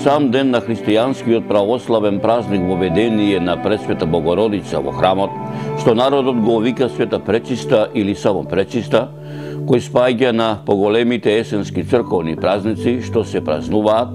сам ден на христијанскиот православен празник воведение на Пресвета Богородица во храмот, што народот го вика Света Пречиста или само Пречиста, кој спаѓа на поголемите есенски црковни празници што се празнуваат,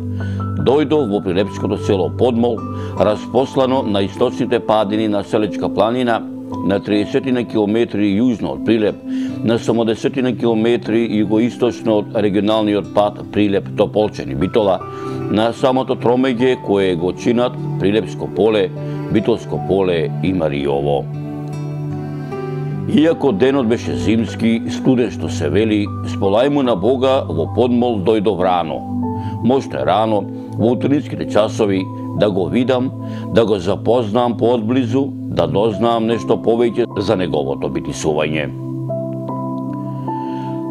дојдов во прилепското село Подмол, распослано на источните падини на Селечка планина, на 30 на километри јужно од Прилеп, на само 10 на километри југоисточно од регионалниот пат Прилеп-Тополчени Битола, на самото тромеѓе кое го чинат Прилепско поле, Битолско поле и Маријово. Иако денот беше зимски, студен што се вели, сполајмо на Бога во Подмол дојдов рано. Можда рано, во утринските часови, да го видам, да го запознам поодблизу, да дознам нешто повеќе за неговото битисување.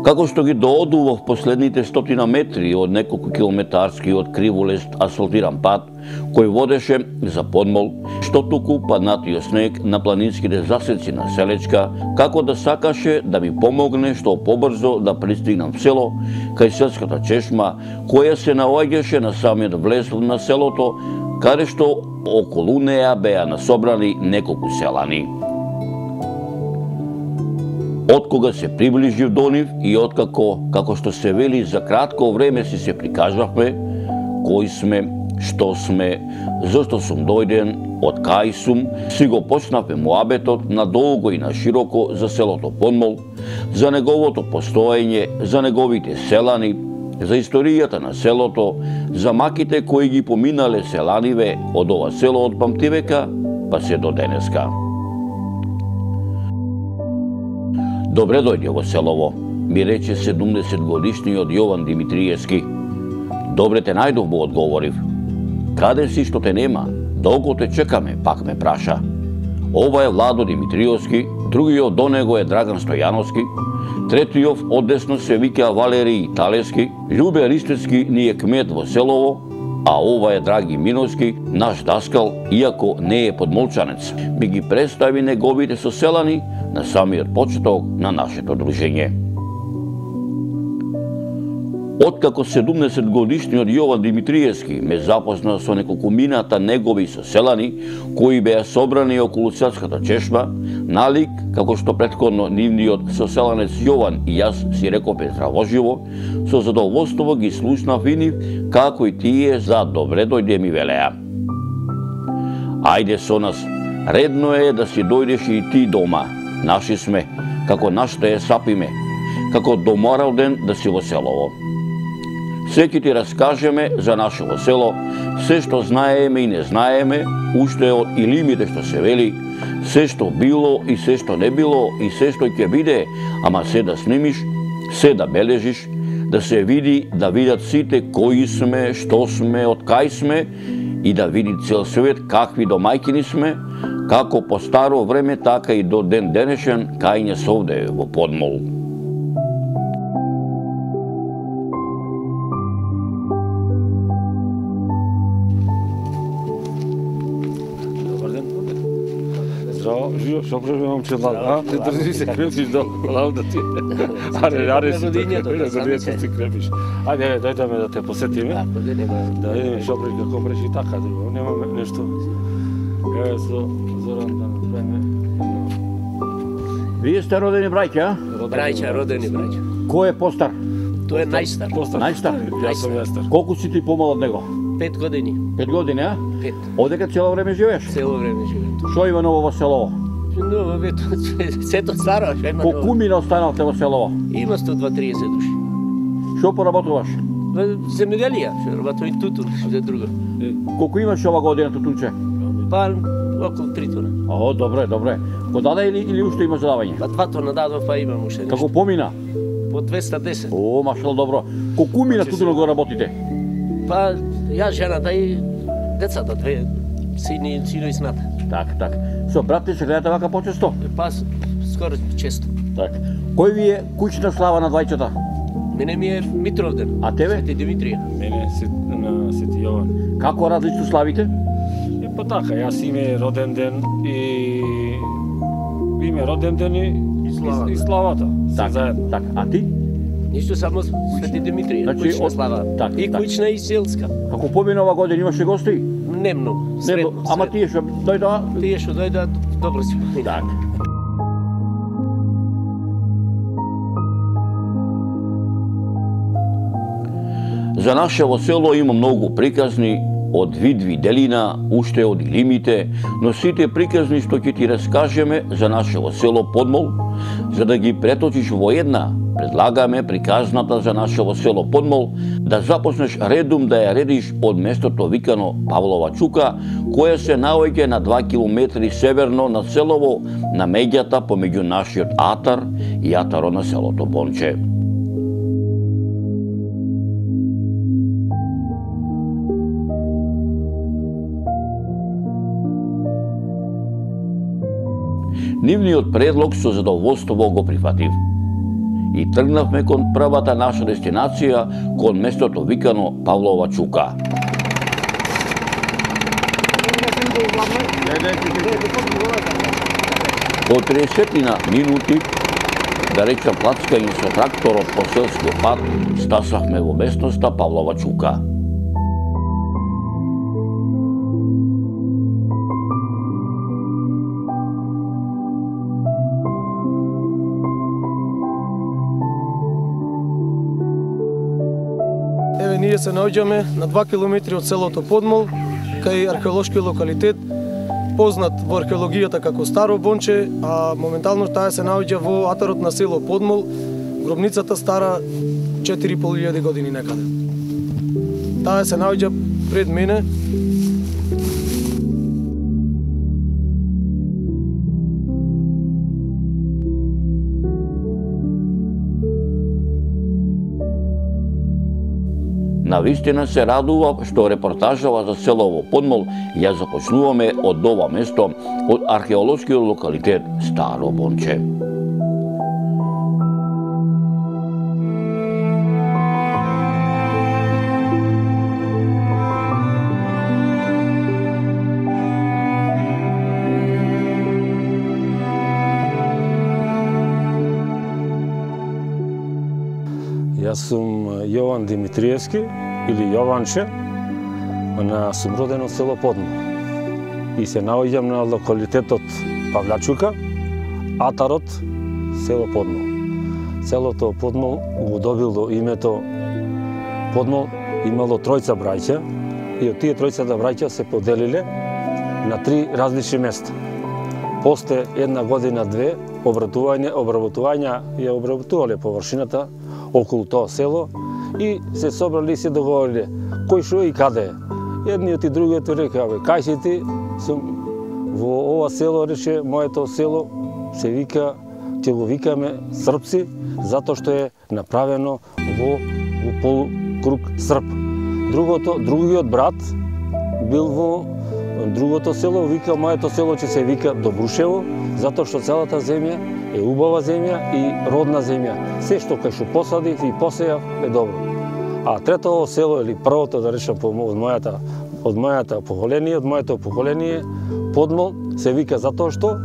Како што ги доодував последните 100 метри од неколку километарски од криволест асфалтиран пат, кој водеше за Подмол, што туку паднатиот снег на планинските засеци на Селечка, како да сакаше да ми помогне што побрзо да пристигнам в село, кај селската чешма, која се наоѓаше на самиот влез на селото, каде што околу неа беа насобрани неколку селани. Откога се приближив до нив и откако, како што се вели, за кратко време си се прикажавме, кои сме, што сме, зашто сум дојден, од кај сум, си го почнавме муабетот надолго и на широко за селото Подмол, за неговото постоење, за неговите селани, за историјата на селото, за маките кои ги поминале селаниве од ова село од памтивека, па се до денеска. Добре дојде во селово, ми рече 70-годишниот Јован Димитриевски. Добре те најдов, му одговорив. Каде си што те нема? Долго те чекаме, пак ме праша. Ова е Владо Димитриевски, другиот до него е Драган Стојановски, третиот одесно се вика Валерий Талески, Љубе Ристецки ни е кмет во селово, а ова е Драги Миновски, наш даскал, иако не е подмолчанец. Ми ги представи неговите соселани на самиот почеток на нашето дружење. Откако 70-годишниот Јован Димитриевски ме запозна со неколкумината негови соселани, кои беа собрани околу селската чешма, налик, како што претходно нивниот соселанец Јован и јас си рековме здравоживо, со задоволство ги слушнав и нив, како и тие за добре дојде ми велеа. Ајде со нас, редно е да си дојдеш и ти дома. Наши сме, како нашите е сапиме, како доморал ден да си во селово. Се ќе ти раскажеме за нашето село, се што знаеме и не знаеме, уште од илимите што се вели, се што било и се што не било и се што ќе биде, ама се да снимиш, се да бележиш, да се види, да видат сите кои сме, што сме, од кај сме и да види цел свет какви домајкини сме, како по старо време, така и до ден денешен, кај не совде во Подмол. Добар ден. Здраво, живо, што правиш, момче Лал, а? Ти држи се крепиш до Лал да ти. Аре, си ти крепиш. Ајде, дојдеме да те посетиме. Да видиме што правиш, како правиш и така, друго. Немаме нешто. Еве со Зоран да направиме. Вие сте родени браќа? Браќа, родени браќа. Кој е постар? Тој е најстар. Најстар? Јас сум јастар. Колку си ти помал од него? 5 години. 5 години, а? 5. Одека цело време живееш? Цело време живеем. Што има ново во селово? Но, сето старо, што има ново. Колку мина останавте во селово? Има 120-30 души. Што поработуваш? Земјоделија, што работам и тутун, за друго. Колку имаш ова година тутунче? Па, околу 3 тона. О, добре, добре. Го даде или уште има задавање? Па 2 тона дадов, па имам уште нешто. Како помина? По 210. О, машало добро. Колку мина тутуно го работите? Па, јас, жената и децата, 2 сино и сината. Так. Со брат ти се гледате вака почесто? Па, скоро често. Так. Кој ви е куќна слава на двајцата? Мене ми е Митровден. А тебе? Свети Димитрија. Мене на Свети Јован. Како различно славите? Па така, јас име роден ден и славата. И славата. Так. А ти? Ништо, само Свети Димитрија, Значи, куќна слава. И куќна и селска. Како помина ова година имаше гости? Не многу, средно. Ама тие што дојдоа? Тие што дојдоа, добро си помина. За нашево село има многу приказни, од Видви делина, уште од Илимите, но сите приказни што ќе ти раскажеме за нашево село Подмол, за да ги преточиш во една, предлагаме приказната за нашево село Подмол да започнеш редум да ја редиш од местото викано Павлова Чука, кое се наоѓа на 2 километри северно на селово, на меѓата помеѓу нашиот Атар и Атаро на селото Бонче. Нивниот предлог со задоволство го прифатив. И тргнавме кон првата наша дестинација, кон местото викано Павлова Чука. По 30 минути, да речам плацкање со тракторот по селскиот пат, стасавме во местноста Павлова Чука. Ние се наоѓаме на 2 километри од селото Подмол, кај археолошки локалитет, познат во археологијата како Старо Бонче, а моментално таа се наоѓа во атарот на село Подмол, гробницата стара 4500 години некаде. Таа се наоѓа пред мене. Навистина се радува што репортажава за селово Подмол ја започнуваме од ова место, од археолошкиот локалитет Старо Бонче. Јас сум Јован Димитриевски, или Јованче, сум роден од село Подмол. И се наоѓам на локалитетот Павлачука, атарот село Подмол. Селото Подмол го добило името Подмол, имало тројца браќа, и од тие тројцата браќа се поделиле на 3 различни места. После една година-две обработувања ја обработувале површината околу тоа село и се собрали и се договориле кој шо и каде е. Едниот и другиот рекаве, кај си ти, сум во ова село, рече, моето село се вика, ќе го викаме Српци, затоа што е направено во полукруг срп. Другиот брат бил во другото село, вика, моето село ќе се вика Добрушево, затоа што целата земја е убава земја и родна земја. Се што кај што посадив и посејав е добро. А третото село, или првото, да речам, од моето поколение, Подмол, се вика затоа што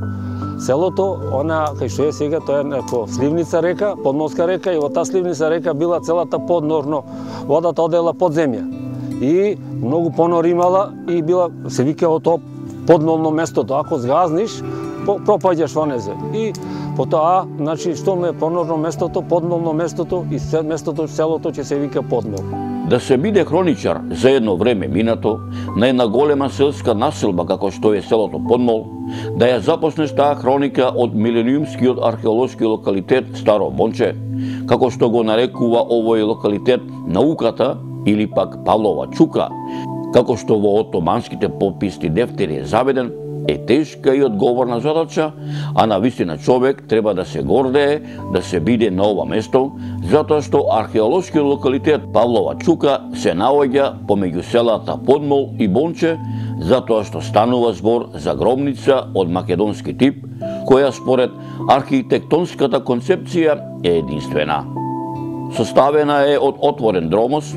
селото, она кај што е сега, тоа е како сливница река, Подмолска река, и во таа сливница река била целата поднорно, водата одела под земја. И многу понор имала и била, се вика од тоа подмолно местото. Ако згазниш, пропаѓаш во незе. И потоа, значи, што ме понорно местото, подмолно местото и местото, селото ќе се вика Подмол. Да се биде хроничар за едно време минато на една голема селска населба како што е селото Подмол, да ја започнеш таа хроника од милениумскиот археолошки локалитет Старо Бонче, како што го нарекува овој локалитет науката или пак Павлова Чука, како што во отоманските пописни дефтери е заведен, е тешка и одговорна задача, а навистина човек треба да се гордее да се биде на ова место, затоа што археолошкиот локалитет Павлова Чука се наоѓа помеѓу селата Подмол и Бонче, затоа што станува збор за гробница од македонски тип, која според архитектонската концепција е единствена. Составена е од отворен дромос,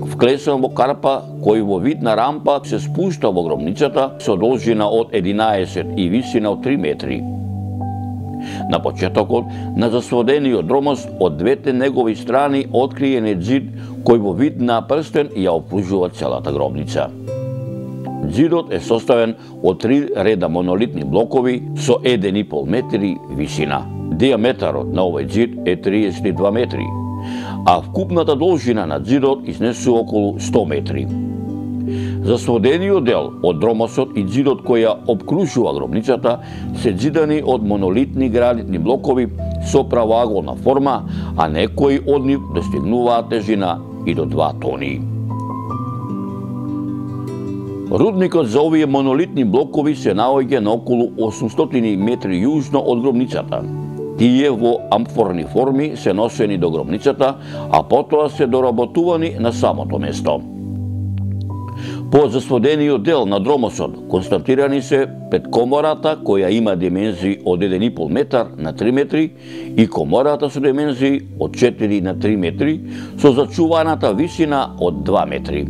вклесан во карпа кој во вид на рампа се спушта во гробницата со должина од 11 и висина од 3 метри. На почетокот на засводениот дромост од двете негови страни откриен е ѕид кој во вид на прстен ја опружува целата гробница. Ѕидот е составен од 3 реда монолитни блокови со 1,5 метри висина. Диаметарот на овој ѕид е 32 метри, а вкупната должина на ձидот изнесува околу 100 метри. Засводениот дел од дромосот и ձидот кој ја обкружува гробницата се ձидани од монолитни гранитни блокови со правоаголна форма, а некои од нив достигнуваат тежина и до 2 тони. Рудникот за овие монолитни блокови се наоѓа на околу 800 метри јужно од гробницата. Тие во амфорни форми се носени до гробницата, а потоа се доработувани на самото место. По засводениот дел на дромосот констатирани се предкомората која има димензии од 1,5 метар на 3 метри и комората со димензии од 4 на 3 метри со зачуваната висина од 2 метри.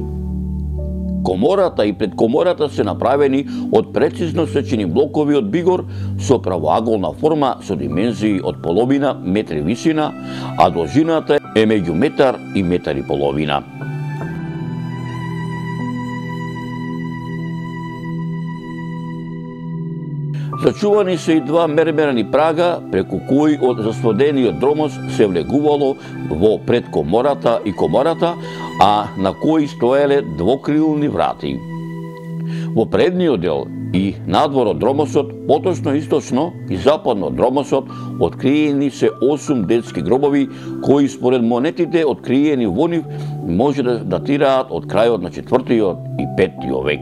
Комората и предкомората се направени од прецизно сечени блокови од бигор со правоаголна форма со димензии од половина метри висина, а должината е меѓу метар и метар и половина. Зачувани се и 2 мермерни прага, преку кои од засводениот дромост се влегувало во предкомората и комората, а на кои стоеле двокрилни врати. Во предниот дел и надвор од дромосот, поточно источно и западно од дромосот, откриени се 8 детски гробови, кои според монетите откриени во нив може да датираат од крајот на 4 и 5 век.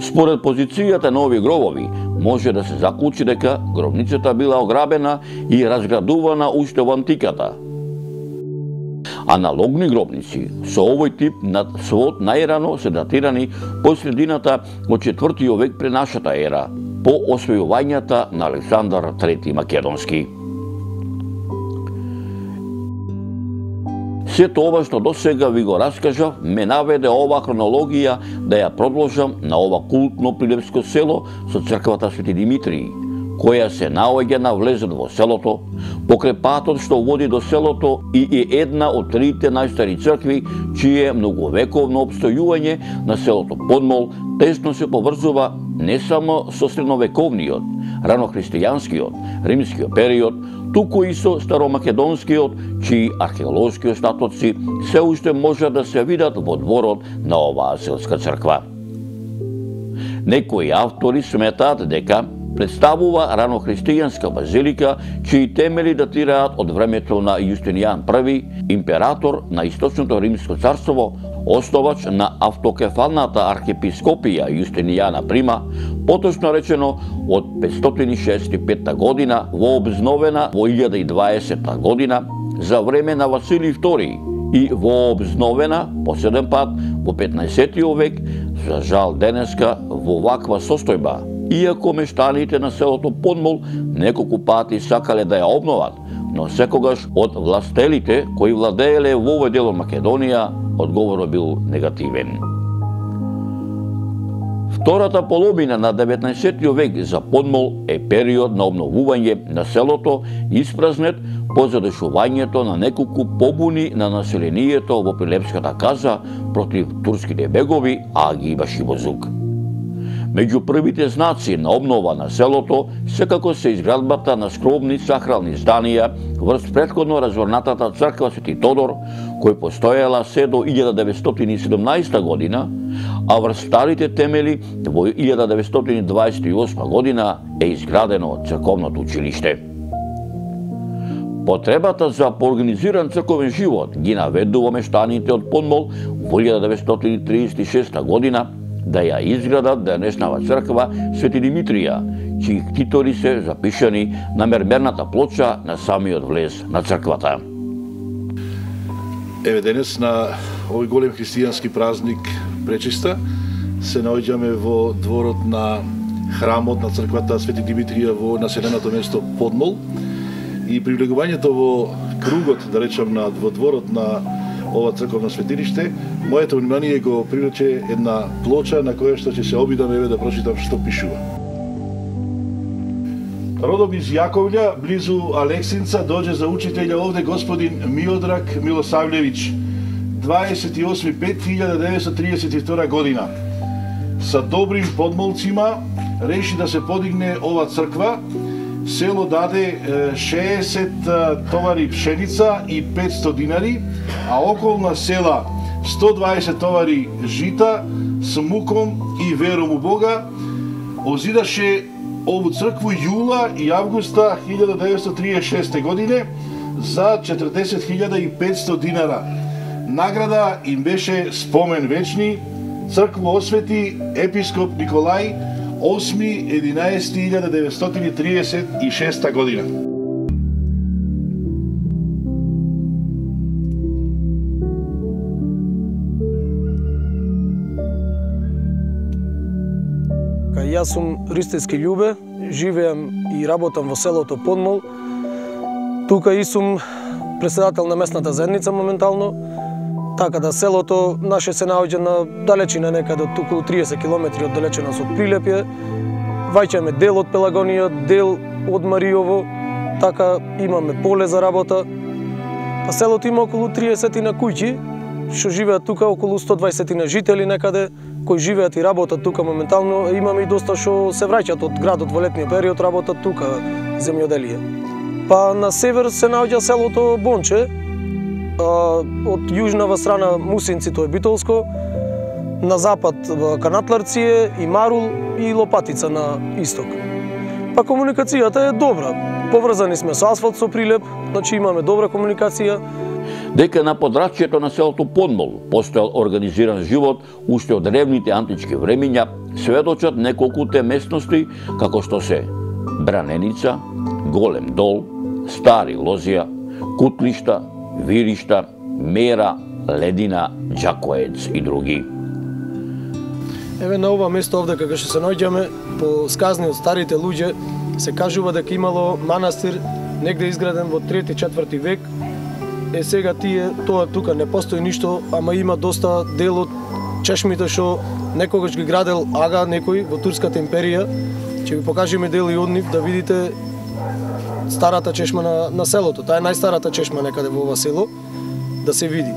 Според позицијата на овие гробови, може да се заклучи дека гробницата била ограбена и разградувана уште во антиката. Аналогни гробници со овој тип на свод најрано се датирани по средината од 4 век пред нашата ера, по освојувањата на Александар III Македонски. Сето ова што досега ви го раскажав, ме наведе ова хронологија да ја продолжам на ова култно прилепско село со црквата Свети Димитрий, која се наоѓа на влезот во селото, покрај патот што води до селото и е една од 3 најстари цркви, чие многовековно обстојување на селото Подмол тесно се поврзува не само со средновековниот, ранохристијанскиот, римскиот период, туку и со старомакедонскиот, чии археолошки остатоци се уште можат да се видат во дворот на оваа селска црква. Некои автори сметаат дека представува ранохристијанска базилика, чии темели датираат од времето на Јустинијан I, император на Источното Римско царство, основач на автокефалната архиепископија Јустинијана Прима, поточно речено од 565 година, вообновена во 1020 година за време на Василий II и вообновена последен пат во 15 век, за жал денеска во ваква состојба. Иако мештаните на селото Подмол неколку пати сакале да ја обноват, но секогаш од властелите кои владееле во овој дел од Македонија, одговорот бил негативен. Втората половина на 19 век за Подмол е период на обновување на селото, испразнет по задушувањето на неколку побуни на населението во Прилепската каза против турските бегови, Аги и Башибозук. Меѓу првите знаци на обнова на селото секако се изградбата на скромни сакрални зданија врз претходно разворнатата црква Свети Тодор, кој постоела се до 1917 година, а врз старите темели во 1928 година е изградено црковното училиште. Потребата за поорганизиран црковен живот ги наведува мештаните од Подмол во 1936 година да ја изградат денешнава црква Свети Димитрија, чии титори се запишани на мермерната плоча на самиот влез на црквата. Еве денес на овој голем христијански празник пречиста се наоѓаме во дворот на храмот на црквата Свети Димитрија во населеното место Подмол и привлегувањето во кругот, да речам, во дворот на ова црковно светилиште, моето внимание го привлече една плоча на која што ќе се обидам еве да прочитам што пишува. Родом из Јаковља, близу Алексинца, доđe за учителја овде господин Миодраг Милосављевиќ, 28.5.1932 година. Са добрим подмолцима реши да се подигне ова црква. Село даде 60 товари пшеница и 500 динари, а околна села 120 товари жита с муком и вером у Бога. Озидаше ову цркву јула и августа 1936 године за 40.500 динара. Награда им беше спомен вечни. Црква освети епископ Николај 8.11.1936 година. Јас сум Ристејски Љубе, живеам и работам во селото Подмол. Тука и сум председател на местната заедница моментално. Така да селото наше се наоѓа на далечина некаде од околу 30 км од далечината од Прилепје. Ваќаме дел од Пелагонија, дел од Мариово, така имаме поле за работа. Па селото има околу 30 на куќи, што живеат тука околу 120 на жители некаде, кои живеат и работат тука моментално. Имаме и доста што се враќаат од градот во летниот период, работат тука земјоделие. Па на север се наоѓа селото Бонче, од јужнава страна Мусинци, тоа е Битолско, на запад Канатларци и Марул и Лопатица на исток. Па комуникацијата е добра. Поврзани сме со асфалт, со Прилеп, значи имаме добра комуникација. Дека на подрачјето на селото Подмол постоел организиран живот уште од древните антички времиња, сведочат неколкуте местности како што се Браненица, Голем Дол, Стари Лозија, Кутлишта, Виришта, Мера, Ледина, Џакоец и други. Еве на ова место овде кога што се наоѓаме, по сказни од старите луѓе, се кажува дека имало манастир негде изграден во 3-4 век. Сега тоа тука не постои ништо, ама има доста дел од чешмите што некогаш ги градел Ага некој во Турската империја. Ќе ви покажеме дел и од нив да видите старата чешма на селото. Таа е најстарата чешма некаде во ова село, да се види.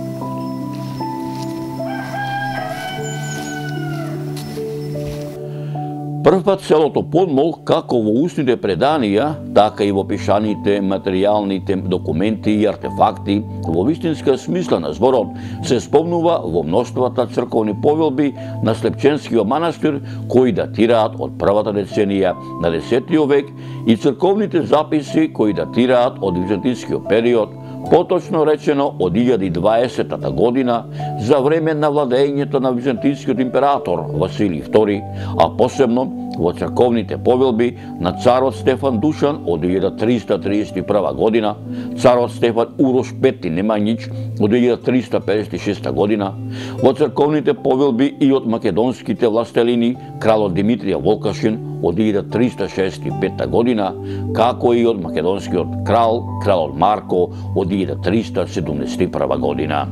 Првпат селото Подмол, како во устните преданија, така и во пишаните материјалните документи и артефакти, во вистинска смисла на зборот, се спомнува во мноштвата црковни повелби на Слепченскиот манастир, кои датираат од првата деценија на 10 век и црковните записи кои датираат од византискиот период, поточно речено од 1020 година, за време на владењето на византискиот император Василий II, а посебно во црковните повелби на царот Стефан Душан од 1331 година, царот Стефан Урош V Немањич од 1356 година, во црковните повелби и од македонските властелини кралот Димитрија Волкашин од 1365 година, како и од македонскиот кралот Марко од 1371 година.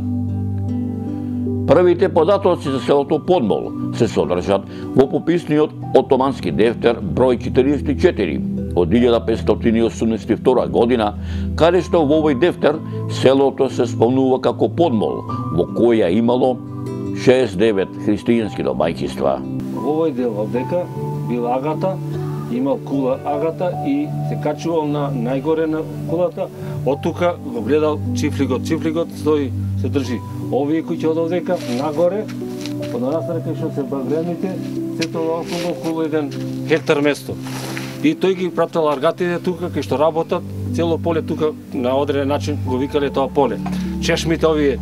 Првите податоци за селото Подмол се содржат во пописниот отомански дефтер број 44 од 1582 година, каде што во овој дефтер селото се спомнува како Подмол, во која имало 69 христијански домаќинства. Во овој дел овдека бил Агата, имал кула Агата и се качувал на најгоре на кулата, од тука го гледал чифлигот стои, се држи. Овие кои ќе од овдека нагоре, од настрана кај што се багрените, се тоа околу 1 хектар место. И тој ги прател аргатите тука кај што работат, цело поле тука на одреден начин го викале тоа поле. Чешмите овие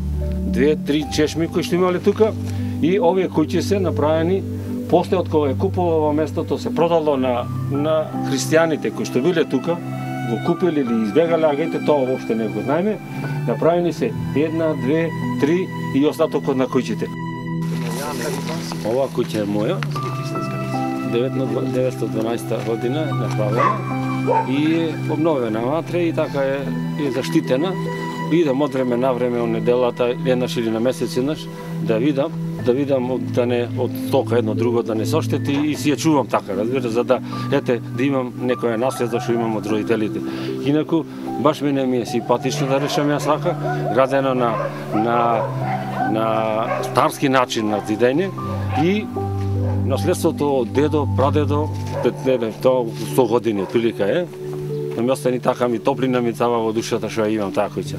2-3 чешми кои што имале тука и овие куќи се направени после од кога е купува ова местото, се продало на христијаните кои што биле тука, го купили или избегале агите, тоа воопште не го знаеме. Направени се 1, 2, 3 и остатокот на куќите. Ова куќа е моја, 1912 година направена и е обновена внатре и така е заштитена. Идам од време на време од неделата, еднаш или на месец еднаш, да видам да видам да не од тока едно друго да не соштети и си ја чувам така, разбира, за да да имам некоја наследство што имам од родителите. Инаку баш мене ми е симпатично да решам јас така, градено на старски начин на зидење и наследството од дедо, прадедо, тоа 100 години отприлика е. Но ми остани така, ми топлина ми цава во душата што ја имам така куќа.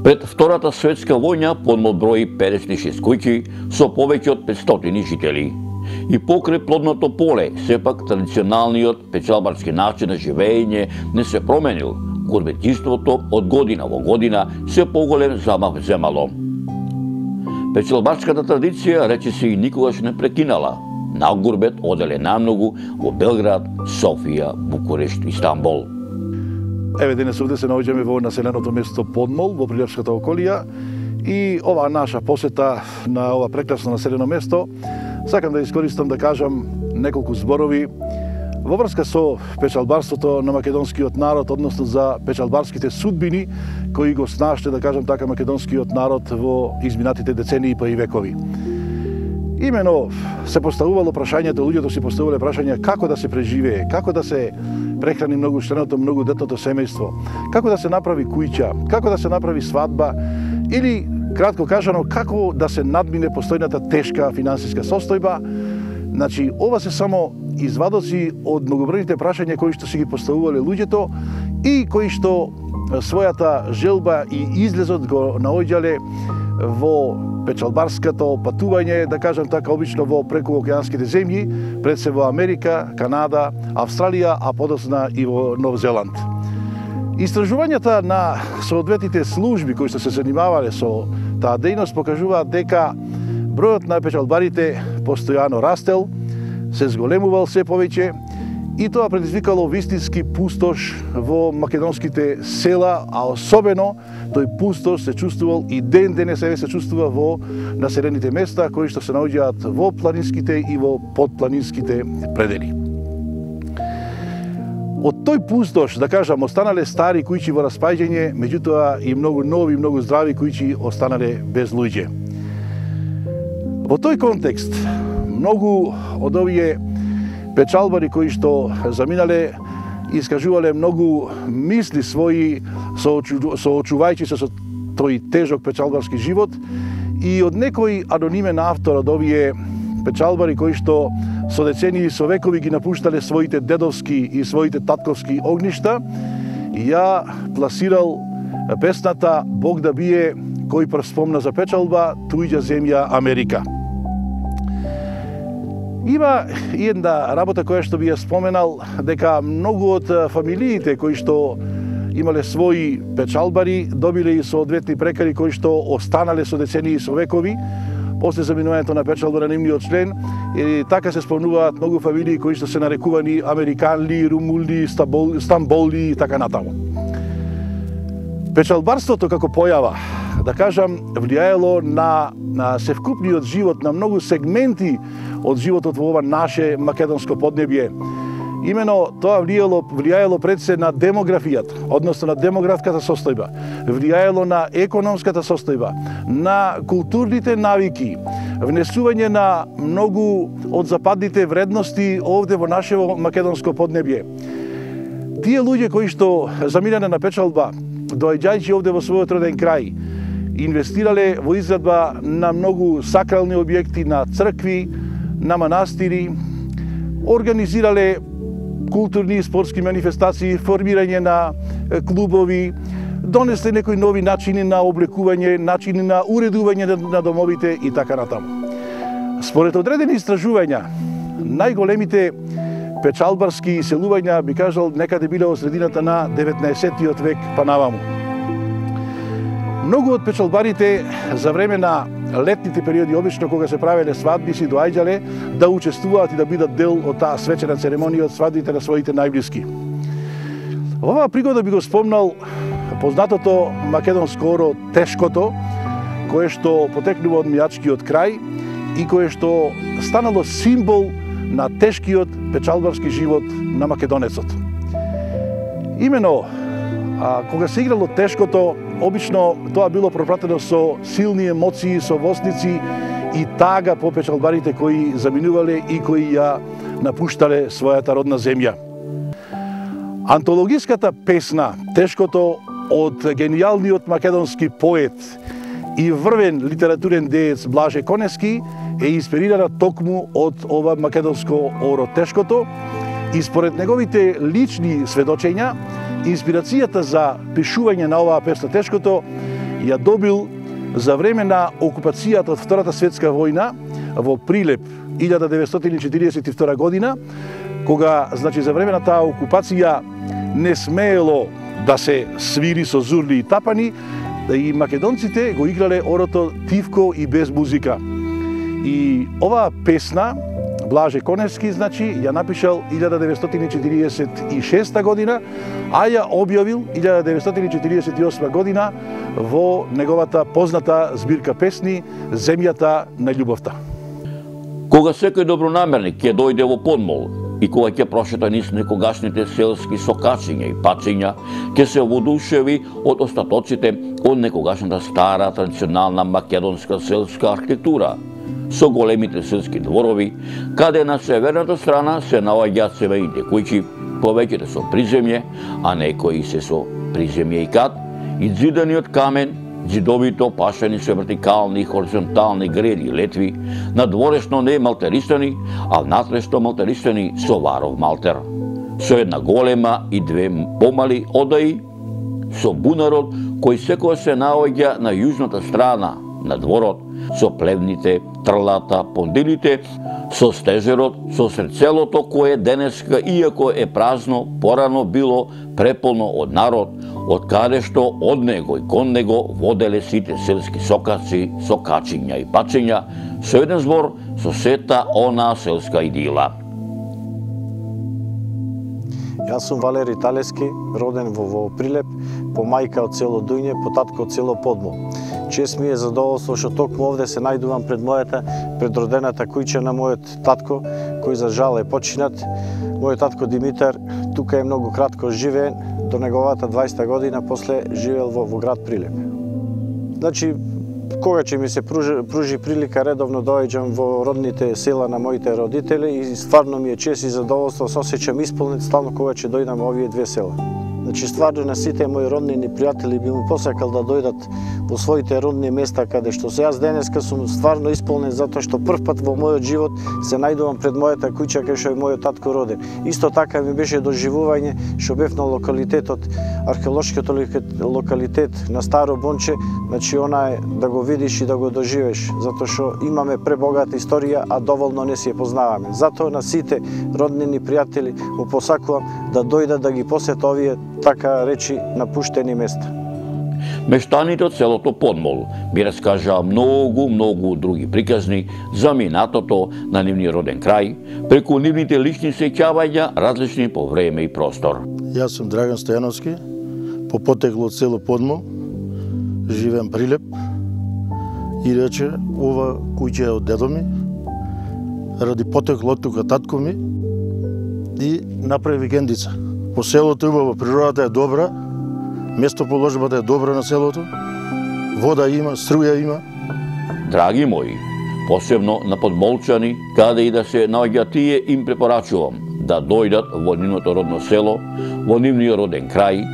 Пред Втората светска војна Подмол брои 56 куќи со повеќе од 500 жители. И покрај плодното поле, сепак традиционалниот печалбарски начин на живење не се променил. Гурбетиството од година во година се поголем замах земало. Печалбарската традиција речиси и никогаш не прекинала. На гурбет оделе најмногу во Белград, Софија, Букурешт и Истанбул. Еве денес овде се наоѓаме во населеното место Подмол, во Прилепската околија, и оваа наша посета на ова прекрасно населено место, сакам да искористам да кажам неколку зборови во врска со печалбарството на македонскиот народ, односно за печалбарските судбини кои го снаште, да кажам така, македонскиот народ во изминатите децении па и векови. Имено се поставувало прашањето, луѓето си поставувале прашања како да се преживее, како да се прехрани многучленото, многодетното семејство, како да се направи куќа, како да се направи свадба или, кратко кажано, како да се надмине постојната тешка финансиска состојба. Значи, ова се само извадоци од многобројните прашања кои што си ги поставувале луѓето и кои што својата желба и излезот го наоѓале во печалбарското патување, да кажам така, обично во прекуокеанските земји, пред се во Америка, Канада, Австралија, а подосна и во Нов Зеланд. Истражувањата на соодветните служби кои што се занимавале со таа дејност покажуваат дека бројот на печалбарите постојано растел, се зголемувал се повеќе и тоа предизвикало вистински пустош во македонските села, а особено тој пустош се чувствувал и ден денес се чувствува во населените места кои што се наоѓаат во планинските и во подпланинските предели. Од тој пустош, да кажам, останале стари куќи во распаѓање, меѓутоа и многу нови, многу здрави куќи останале без луѓе. Во тој контекст, многу од овие печалбари кои што заминале искажувале многу мисли своји соочувајќи се со тој тежок печалбарски живот и од некој анонимен автор од овие печалбари кои што со децении и со векови ги напуштале своите дедовски и своите татковски огништа, ја пласирал песната Бог да бие кој прв спомна за печалба, туѓа земја Америка. Има и една работа која што би ја споменал, дека многу од фамилиите кои што имале своји печалбари, добиле и соодветни прекари кои што останале со децении и со векови, после заминувањето на печалба на нивниот член, и така се спомнуваат многу фамилии кои што се нарекувани Американли, Румулли, Стамболли и така натаму. Печалбарството како појава, да кажам, влијаело на севкупниот живот, на многу сегменти од животот во ова наше македонско поднебје. Имено тоа влијаело пред се на демографијата, односно на демографската состојба, влијаело на економската состојба, на културните навики, внесување на многу од западните вредности овде во нашето македонско поднебје. Тие луѓе кои што заминале на печалба, доаѓајќи овде во својот роден крај, инвестирале во изградба на многу сакрални објекти, на цркви, на манастири, организирале културни и спортски манифестации, формирање на клубови, донесле некои нови начини на облекување, начини на уредување на домовите и така натаму. Според одредени истражувања, најголемите печалбарски иселувања, би кажал, некаде биле во средината на 19 век па наваму. Многу од печалбарите за време на летните периоди, обично кога се правеле свадби, си доаѓале да учествуваат и да бидат дел од таа свечена церемонија од свадбите на своите најблиски. Во оваа пригода би го спомнал познатото македонско оро тешкото, кое што потекнува од мијачкиот крај и кое што станало символ на тешкиот печалбарски живот на македонецот. Имено, кога се играло тешкото, обично тоа било пропратено со силни емоции, со восници и тага по печалбарите кои заминувале и кои ја напуштале својата родна земја. Антологиската песна "Тешкото" од гениалниот македонски поет и врвен литературен деец Блаже Конески е инспирирана токму од ова македонско оро "Тешкото", и според неговите лични сведочења, инспирацијата за пишување на оваа песна "Тешкото" ја добил за време на окупацијата од Втората светска војна во Прилеп 1942 година, кога, значи, за време на таа окупација не смеело да се свири со зурли и тапани, и македонците го играле орото тивко и без музика. И оваа песна Блаже Конески, значи, ја напишал 1946 година, а ја објавил 1948 година во неговата позната збирка песни "Земјата на љубовта". Кога секој добронамерник ќе дојде во Подмол и кога ќе прошета низ некогашните селски сокачиња и пачиња, ќе се воодушеви од остатоците од некогашната стара традиционална македонска селска архитектура, со големите селски дворови, каде на северната страна се наоѓаат семејните куќи, повеќето со приземје, а некои се со приземје и кат, и зидани од камен, зидовито пашени со вертикални и хоризонтални греди и летви, надворешно не малтерисани, а внатрешно малтерисани со варов малтер, со една голема и две помали одаи, со бунарот кој секој се наоѓа на јужната страна на дворот, со плевните, трлата, пондилите, со стежерот, со средцелото кое денеска, иако е празно, порано било преполно од народ, од каде што од него и кон него воделе сите селски сокаци, сокачиња и пачиња, со еден збор, со сета онаа селска идила. Јас сум Валери Талески, роден во Прилеп, по мајка од село Дујне, по татко од село Подмол. Чест ми е задоволство што токму овде се најдувам пред мојата предродената куќа на мојот татко, кој за жал е починат. Мојот татко Димитар тука е многу кратко живеен, до неговата 20 година, после живеел во град Прилеп. Значи, кога ќе ми се пружи прилика, редовно доаѓам во родните села на моите родители и стварно ми е чест и задоволство, се осеќам исполнет стално кога ќе дојдам во овие две села. Значи, стварно на сите мои роднини пријатели би му посакал да дојдат во своите родни места, каде што се јас денеска сум стварно исполнет затоа што прв пат во мојот живот се најдувам пред мојата куќа кај што е мојот татко роден. Исто така ми беше доживување што бев на локалитетот, археолошкиот локалитет на Старо Бонче, значи она е да го видиш и да го доживеш, затоа што имаме пребогата историја, а доволно не си ја познаваме. Затоа на сите роднини пријатели му посакувам да дојдат да ги посетат овие така речи напуштени места. Мештаните од селото Подмол ми раскажаа многу други приказни за минатото на нивниот роден крај, преку нивните лични сеќавања, различни по време и простор. Јас сум Драган Стојановски, по потекло од село Подмол, живеам Прилеп и рече ова куќа е од дедо ми, ради потекло од тука татко ми и направи викендица. По селото убаво, природата е добра, местоположбата е добра на селото, вода има, струја има. Драги мои, посебно на подмолчани, каде и да се наоѓа тие, им препорачувам да дојдат во нивното родно село, во нивниот роден крај,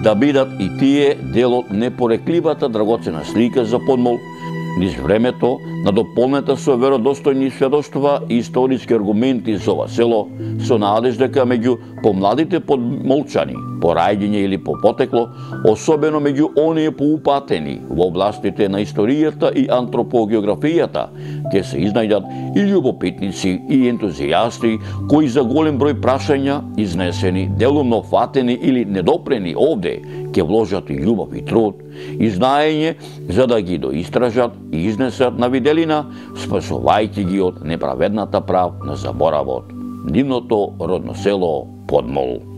да бидат и тие дел од непорекливата драгоцена слика за Подмол, низ времето, надополнета со веродостојни сведоштва и историски аргументи за ова село, со надеж дека меѓу помладите подмолчани, по раѓење или по потекло, особено меѓу оние поупатени во областите на историјата и антропогеографијата, ќе се изнајдат и љубопитници и ентузијасти кои за голем број прашања, изнесени, делумно фатени или недопрени овде, ќе вложат и љубов и труд, и знаење за да ги доистражат и изнесат на виделина, спасувајќи ги од неправедната прав на заборавот. Нивното родно село Подмол.